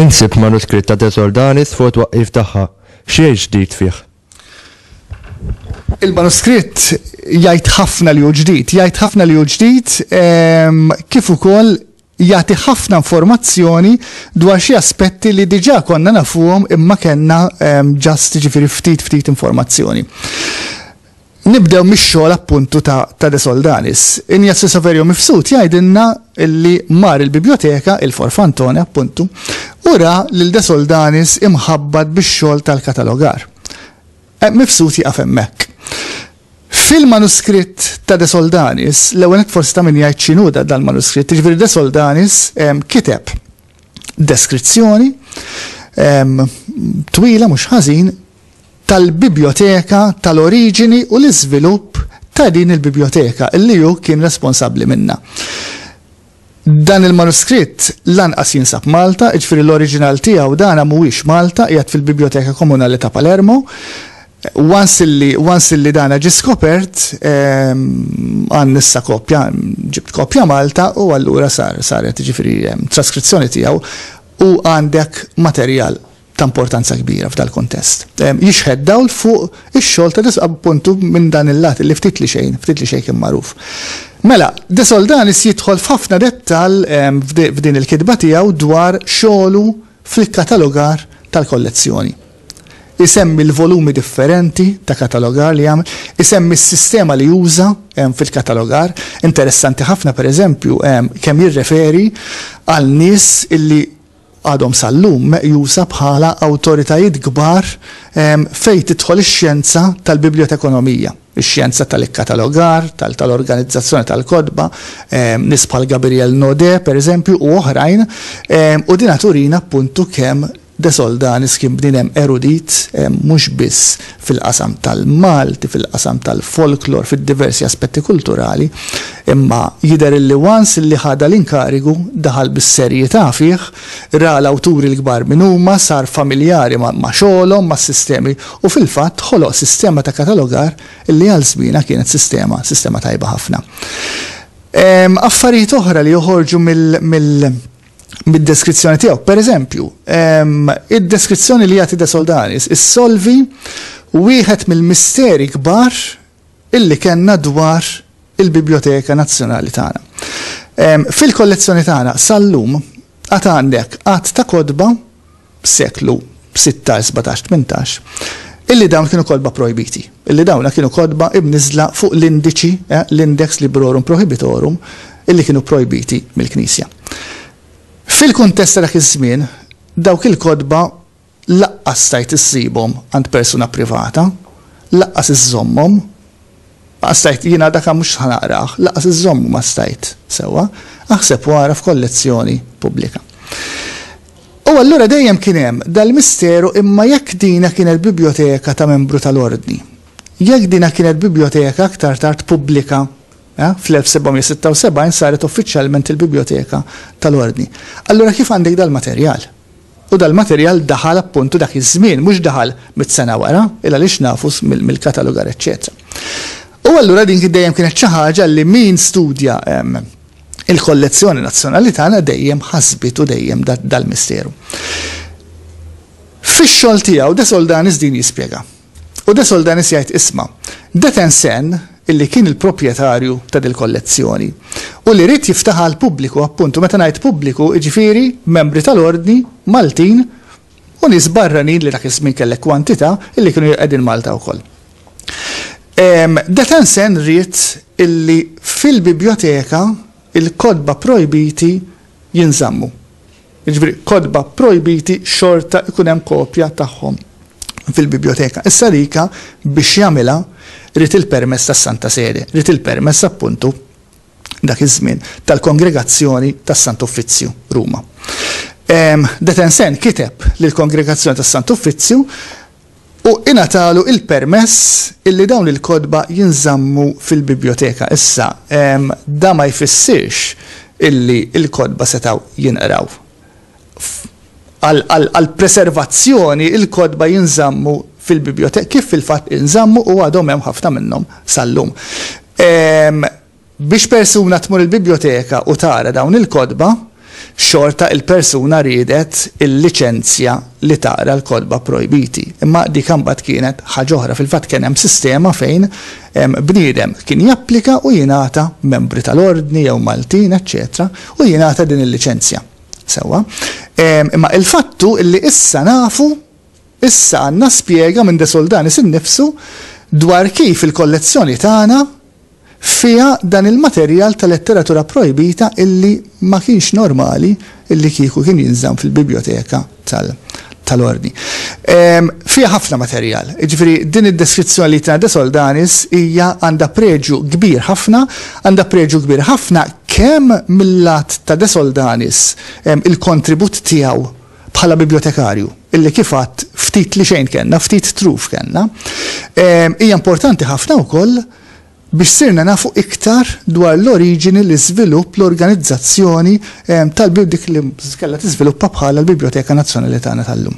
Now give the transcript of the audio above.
Insib manuskritt ta' De Soldanis fuq it-twaqqif tagħha. X'jgħid ġdid fih? Il-manuskritt jgħid ħafna li hu ġdid, jgħid ħafna li hu ġdid ehm, kif ukoll jagħti ħafna informazzjoni dwar xi aspetti li diġà konna nafuhom imma kellna ehm, ġast ġifieri ftit ftit informazzjoni. Nibdew mix-xogħol appuntu ta', ta De Soldanis. Ignazio Saverio Mifsud jgħidilna li mar il-biblioteka, il-Forfantone appuntu, u ra lil De Soldanis imħabbat bix-xogħol tal-katalogar. Eh, Mifsud jieqaf hemmhekk. Fil-manuskritt ta' De Soldanis, l-ewwel nett forsi ta' min jgħid x'inhu dal-manuskritt, jiġifieri De Soldanis kiteb deskrizzjoni twila mhux ħażin tal-bibjoteka tal-oriġini u l-iżvilupp ta' din il-bibjoteka li hu kien responsabbli minnha. Dan il-manuskritt lanqas jinsab Malta, jiġifieri l-oriġinal tiegħu dana mhuwiex Malta, qiegħed fil-Bibjoteka Komunali ta' Palermo. Once illi, once illi dana ġie skopert, għandna issa kopja, ġibt kopja Malta u allura sar, saret jiġifieri traskrizzjoni tiegħu u għandek materjal ta' importanza kbira f'dal-kuntest. Jixħet dawl fuq ix-xogħol ta' appuntu minn dan il-lat li ftit li xejn, ftit li xejn kien magħruf. Mela, De Soldanis jidħol f'ħafna dettall f'din il-kitba tiegħu dwar xogħlu fil-katalogar tal-kollezzjoni. Isemmi l-volumi differenti ta' katalogar li għamel, isemmi s-sistema li juża fil-katalogar. Interessanti ħafna, per eżempju, kemm jirreferi għal nies illi għadhom sal-lum meqjusa bħala awtoritajiet kbar fejn tidħol ix-xjenza tal-bibljotekonomija, ix-xjenza tal-ikkatalogar, tal-organizzazzjoni tal-kotba, nies bħal Gabriel Naudé, pereżempju, u oħrajn, u dina turina appuntu kemm De Soldanis kien bniedem erudit mhux biss fil-qasam tal-Malti, fil-qasam tal-folklor, fid-diversi aspetti kulturali, Imma jidher illi once illi ħa dal-inkarigu, daħal bis-serjetà fih, ra l-awturi l-kbar min huma, sar familjari ma' xogħolhom, mas-sistemi u fil-fatt ħoloq sistema ta' katalogar illi għal żmienha kienet sistema, sistema tajba ħafna. Affarijiet oħra li joħorġu mill, mill, mid-deskrizzjoni tiegħu. Per eżempju, id-deskrizzjoni li jagħti De Soldanis issolvi wieħed mill-misteri kbar illi kellna dwar il-Bibljoteka Nazzjonali tagħna. Fil-kollezzjoni tagħna sal-lum għad għandek għadd ta' kotba seklu 16, 17, 18 illi dawn kienu kotba projbiti, illi dawna kienu kotba imniżla fuq l-indiċi, eh, l-Index Librorum Prohibitorum, illi kienu projbiti mill-Knisja. Fil-kuntest ta' dak iż-żmien, dawk il-kotba Laqqas stajt issibhom għand persuna privata, laqqas iżżommhom. Laqqas stajt, jiena dak mhux ħa naqrah, laqqas iżżommu ma stajt sewwa, aħseb u ara f'kollezzjoni pubblika. U allura dejjem kien hemm dal-misteru imma jekk dina kienet bibljoteka ta' membru tal-Ordni, jekk dina kienet bibljoteka aktar tard pubblika, eh, fl-1776 saret uffiċjalment il-Bibljoteka tal-Ordni. Allura kif għandek dal-materjal? U dal-materjal daħal appuntu dak iż-żmien, mhux daħal mit sena wara, il għaliex nafu mill-katalogar eċċetera. U allura din dejjem kienet xi ħaġa li min studja il-kollezzjoni nazzjonali tagħna dejjem ħasbitu dejjem dal-misteru. Fix-xogħol tiegħu De Soldanis din jispjega. U De Soldanis jgħid isma' De Tensen illi kien il-proprjetarju ta' dil-kollezzjoni u li ried jiftaħha għall-pubbliku appuntu meta ngħid pubbliku jiġifieri membri tal-Ordni Maltin u nies barranin li dak iż-żmien kellek kwantità illi kienu qegħdin Malta wkoll. De Tensen ried illi fil-bibjoteka il-kotba projbiti jinżammu. Jiġifieri kotba projbiti xorta jkun hemm kopja tagħhom fil-bibljoteka. Issa dika biex jagħmilha ried il-permess tas-Santa Sede, ried il-permess appuntu dak iż-żmien tal-Kongregazzjoni tas-Sant'Uffizzju, Ruma. De Tencin kiteb lill-Kongregazzjoni tas-Sant'Uffizzju U ingħatalu il-permess illi dawn il-kotba jinżammu fil-bibljoteka. Issa, da ma jfissirx illi l-kotba setgħu jinqraw. Għall-preservazzjoni il-kotba jinżammu fil-bibljoteka, kif fil-fatt inżammu u għadhom hemm ħafna minnhom sal-lum. Biex persuna tmur il-bibljoteka u tara dawn il-kotba, xorta il-persuna riedet il-liċenzja li taqra l-kotba projbiti. Imma dik imbagħad kienet ħaġa oħra. Fil-fatt kien hemm sistema fejn bniedem kien japplika u jingħata membri tal-ordni jew Maltin, eċċetera, u jingħata din il-liċenzja. Sewwa. Imma il-fattu illi issa nafu, issa għandna spjega minn De Soldanis innifsu dwar kif il-kollezzjoni tagħna fiha dan il-materjal ta' letteratura projbita illi ma kienx normali illi kieku kien jinżamm fil-bibljoteka tal-ordni. Fiha ħafna materjal. Jiġifieri din id-deskrizzjoni li tana De Soldanis hija għandha preġju kbir ħafna, għandha preġju kbir ħafna kemm mil-lat ta' De Soldanis il-kontribut tiegħu bħala bibliotekarju, illi kif għadt ftit li xejn kellna, ftit truf kellna. Hija importanti ħafna wkoll biex sirna nafu iktar dwar l-oriġini, l-iżvilupp, l-organizzazzjoni tal-dik li kellha tiżviluppa bħala l-Bibljoteka Nazzjonali tagħna tal-lum.